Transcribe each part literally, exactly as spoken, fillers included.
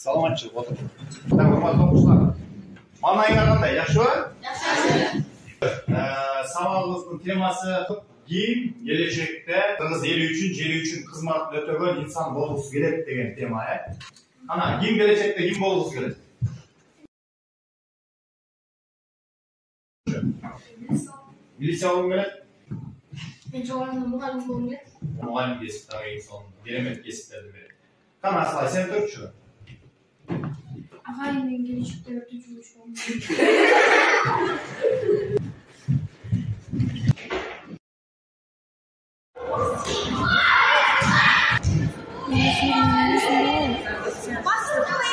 Саламатчылык отур. Так, урматтуу окуучулар. Маанайыңар кандай? Жакшыбы? Жакшы. Сабагыбыздын темасы ким келечекте кыргыз эли үчүн, жери үчүн кызмат өтөгөн инсан болгусу келет деген тема, э? Ана, ким келечекте ким болгусу келет? Милиция болгум келет? Мен жогоруда мугалим болгум келет. Мугалим кесип дагы эң сонун керемет кесиптерди берет. Кана, асылай сен төртчү? Агай мен келечекте өтүүчү болгум келет.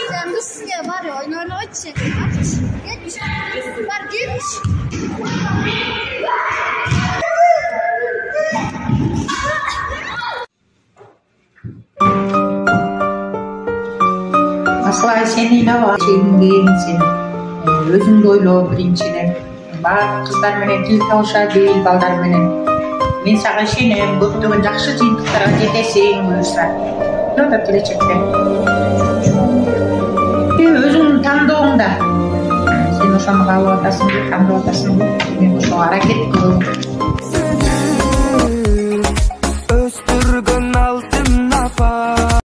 Sen sizge var ya oyun oynamak Gelmiş. Var gelmiş. Aslay seni ne var? Çekingensin. Özüңdү ойлоо биринчиден. Баары кыздар менен тил табыша дейт, балдар менен. Мен сага ишенем, көптөгөн жакшы жыйынтыктарга жетесиң, буюрса. Не атат келечекте? Өзүңдүн тандооңда. Сен ошону каалап атасыңбы, тандап атасыңбы? Мен ошого аракет кыл.